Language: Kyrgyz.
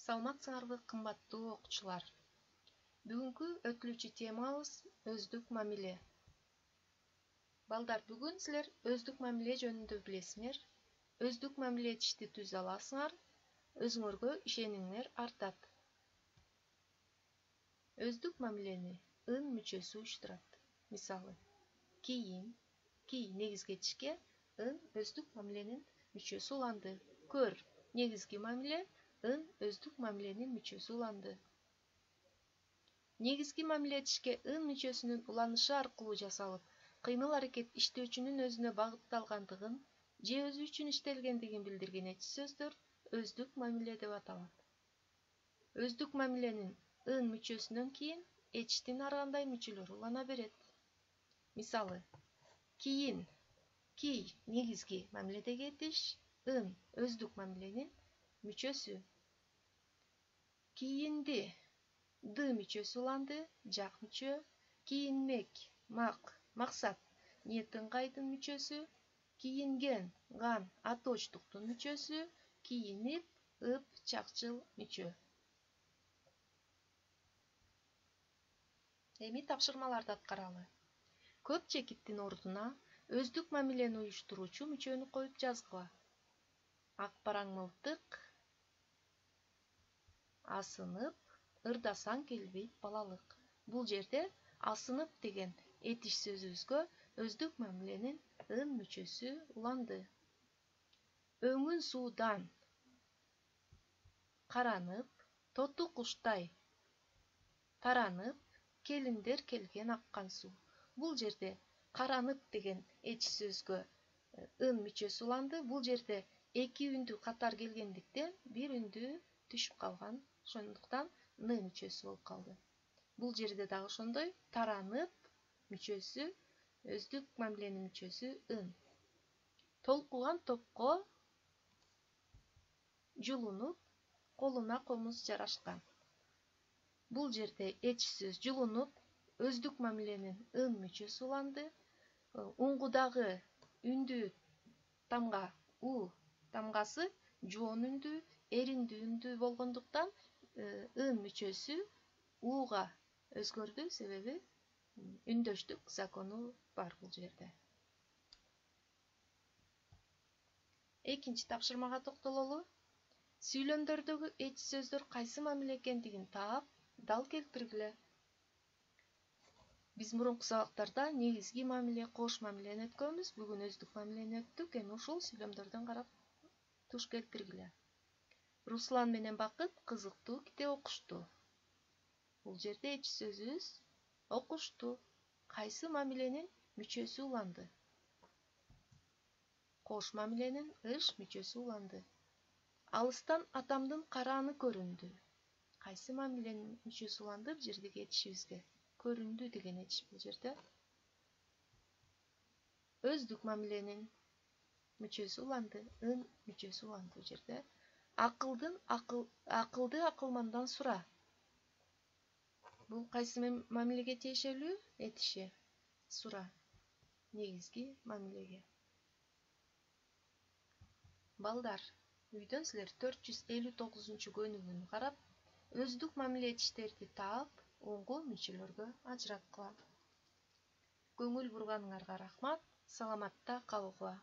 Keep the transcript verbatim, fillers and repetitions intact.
Саламатсыңарбы кымбаттуу окуучулар. Бүгүнкү өтүлүүчү темабыз өздүк мамиле. Балдар, бүгүн силер өздүк мамиле жөнүндө билесиңер. Өздүк мамиле этишти түзө аласыңар. Өзүңөргө ишениңер артат. Өздүк мамилени ын мүчөсү уюштурат. Мисалы, кийин, кий негизги этишке ын өздүк мамиленин мүчөсү уланды. Көр негизги мамиле ын өздүк мамиленин мүчөсү уланды. Негизги мамиле этишке ын мүчөсүнүн уланышы аркылуу жасалып, кыймыл аракет иштөөчүнүн өзүнө багытталгандыгын же өзү үчүн иштелгендигин билдирген эч сөздөр өздүк мамиле деп аталат. Өздүк мамиленин ын мүчөсүнөн кийин этиштин ар кандай мүчөлөрү улана берет. Мисалы, кийин, кий негизги мамиледеги этиш, ын өздүк мамиленин мүчөсү. Кийинди ды мүчөсү уланды, жак мүчө. Кийинмек, мак, максат, ниет ыңгайдын мүчөсү. Кийинген, ган, атоочтуктун мүчөсү. Кийинип, ып, чакчыл мүчө. Эми тапшырмаларды аткаралы. Көп чекиттин ордуна өздүк мамилени уюштуруучу мүчөнү коюп жазгыла. Ак параң мылтык, асынып, ырдасаң келбейт балалык. Бул жерде асынып деген этиш сөзүбүзгө өздүк мамиленин ын мүчөсү уланды. Өңүн суудан каранып, тоту куштай таранып, келиндер келген аккан суу. Бул жерде каранып деген этиш сөзгө ын мүчөсү уланды. Бул жерде эки үндү катар келгендиктен бир үндү түшүп калган. Ошондуктан ны мүчөсү болуп калды. Бул жерде дагы ошондой таранып мүчөсү, өздүк мамиленин мүчөсү ын. Толкуган топко жулунуп, колуна комуз жарашкан. Бул жерде этиш сөз жулунуп, өздүк мамиленин ын мүчөсү уланды. Уңгудагы үндүү тамга у тамгасы жоон үндүү, эриндүү үндүү болгондуктан ын мүчөсү уга өзгөрдү, себеби үндөштүк закону бар бул жерде. Экинчи тапшырмага токтололу. Сүйлөмдөрдөгү этиш сөздөр кайсы мамиле экендигин таап, дал келтиргиле. Биз мурунку сабактарда негизги мамиле, кош мамилени өткөнбүз. Бүгүн өздүк мамилени өттүк. Эми ушул сүйлөмдөрдөн карап туш келтиргиле. Руслан менен Бакыт кызыктуу китеп окушту. Бул жерде этиш сөзүбүз окушту. Кайсы мамиленин мүчөсү уланды? Кош мамиленин ыш мүчөсү уланды. Алыстан атамдын карааны көрүндү. Кайсы мамиленин мүчөсү уланды бул жердеги этишибизге? Көрүндү деген этиш бул жерде. Өздүк мамиленин мүчөсү уланды, ын мүчөсү уланды бул жерде. Акылдын акыл акылды акылмандан сура. Бул кайсы мамилеге тиешелүү этиши? Сура негизги мамилеге. Балдар, үйдөн силер төрт жүз элүү тогузунчу көнүгүүнү карап, өздүк мамиле этиштерди таап, оңго мүчөлөргө ажыраткыла. Көңүл бурганыңарга рахмат. Саламатта калгыла.